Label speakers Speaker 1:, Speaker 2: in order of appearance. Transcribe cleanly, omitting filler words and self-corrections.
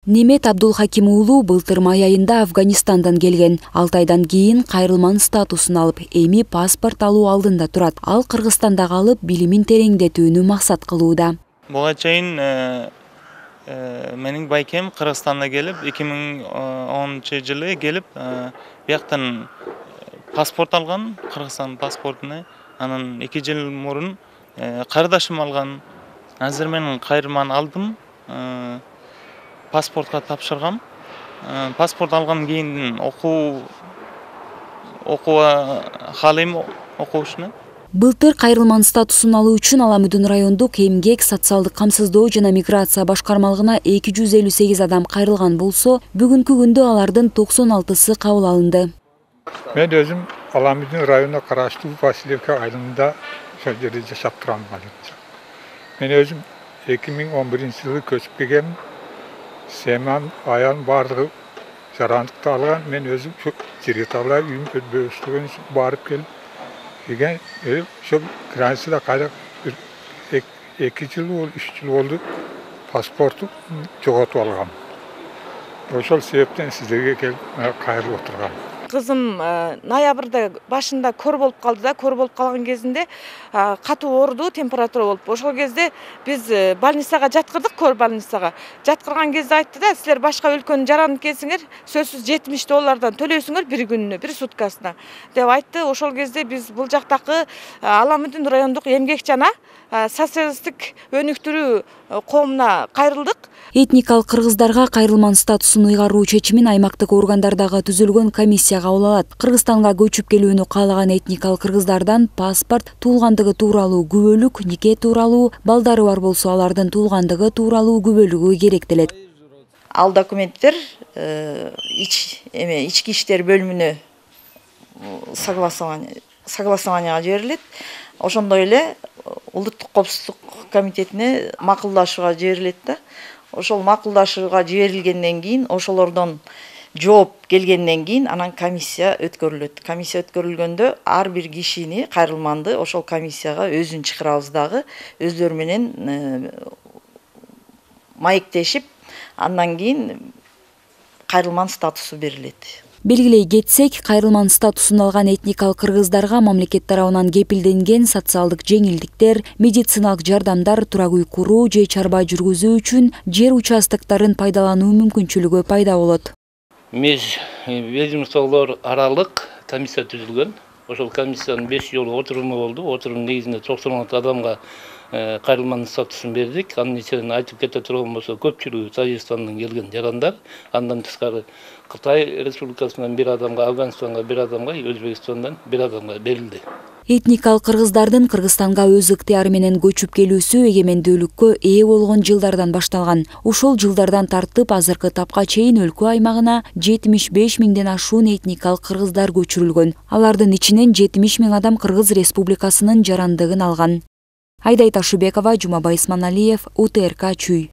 Speaker 1: Немет Абдулхаким уулу былтыр май айында Афганистандан келген. 6 айдан кийин кайрылман статусун алып, эми паспорт алуу алдында турат. Ал Кыргызстанда калып, билимин тереңдетүүнү максат кылууда.
Speaker 2: Буга чейин менин байкем Кыргызстанда келип, 2010-жылы келип, бияктан паспорт алган, Кыргызстан паспортуну. Анан 2 жыл мурун карындашым алган. Азыр мен кайрылман алдым. Паспортка тапшыргам. Паспорт алган кийин окууга каалайм, окуушуну.
Speaker 1: Былтыр кайрылман статусун алуу үчүн Аламүдүн райондук эмгек, социалдык камсыздоо жана миграция башкармалыгына 258 адам кайрылган болсо, бүгүнкү күндө алардын 96сы кабыл алынды.
Speaker 3: Мен өзүм Аламүдүн районуна караштуу Васильевка айылында ошол жерде жашап турам. Мен өзүм 2011-жылы көчүп келгем. Семам, аялым бардыгы жарандыкты алган. Мен өзүм жерге табылай үйүмдө бөлүштүргөн үчүн барып келип келген. Ошол границада кайда 2 жыл, 3 жыл болду. Паспорту жоготуп алгам. Ошол себептен сиздерге келип кайрылып отургам.
Speaker 4: Кызым ноябрда башында көр болуп калды да, көр болуп калган кезинде катуу ооруду, температура болуп. Ошол кезде биз больницага жаткырдык, көр больницага. Жаткырган кезде айтты да, силер башка өлкөнүн жаранды экенсиңер, сөзсүз $70 төлөйсүңөр бир күнүнө, бир суткасына деп айтты. Ошол кезде биз бул жактагы Аламүдүн райондук эмгек жана социалисттик өнүктүрүү коомуна кайрылдык.
Speaker 1: Этникалык кыргыздарга кайрылман статусун ыйгаруу чечимин аймактык органдардагы түзүлгөн комиссия кабыл алат. Кыргызстанга көчүп келүүнү каалаган этникалык кыргыздардан паспорт, туулгандыгы тууралуу күбөлүк, нике тууралуу, балдары бар болсо алардын туулгандыгы тууралуу күбөлүгү керектелет.
Speaker 4: Ал документтер ички иштер бөлүмүнө согласованияга жиберилет. Ошондой эле Улуттук коопсуздук комитетине макулдашууга жиберилет да. Ошол макулдашууга жиберилгенден кийин, ошолордон жооп келгенден кийин анан комиссия өткөрүлөт. Комиссия өткөрүлгөндө ар бир кишини, кайрылманды ошол комиссияга өзүн чакырабыз дагы, өздөрү менен маектешип, андан кийин кайрылман статусу берилет.
Speaker 1: Белгилей кетсек, кайрылман статусун алган этникалык кыргыздарга мамлекет тарабынан кепилденген социалдык жеңилдиктер, медициналык жардамдар, турак үй куруу же чарба жүргүзүү үчүн жер участокторун пайдалануу мүмкүнчүлүгү пайда болот.
Speaker 5: Ведомстволор аралык комиссия түзүлгөн. Ошол комиссиянын 5 жолу отуруму болду. Отурум негизинде 96 адамга кайрылман статусун бердик. Анын ичинен айтып кете турган болсо, көпчүлүгү Тажикстандан келген жарандар. Андан тышкары Кытай Республикасынан 1 адамга, Афганистанга 1 адамга, Өзбекстандан 1 адамга берилди.
Speaker 1: Этникалык кыргыздардын Кыргызстанга өз ыктыяры менен көчүп келүүсү эгемендүүлүккө ээ болгон жылдардан башталган. Ушул жылдардан тартып азыркы тапка чейин өлкө аймагына 75 миңден ашуун этникалык кыргыздар көчүрүлгөн. Алардын ичинен 70 миң адам Кыргыз Республикасынын жарандыгын алган. Айдай Ташыбекова, Жумабай Исманалиев, УТРК Чүй.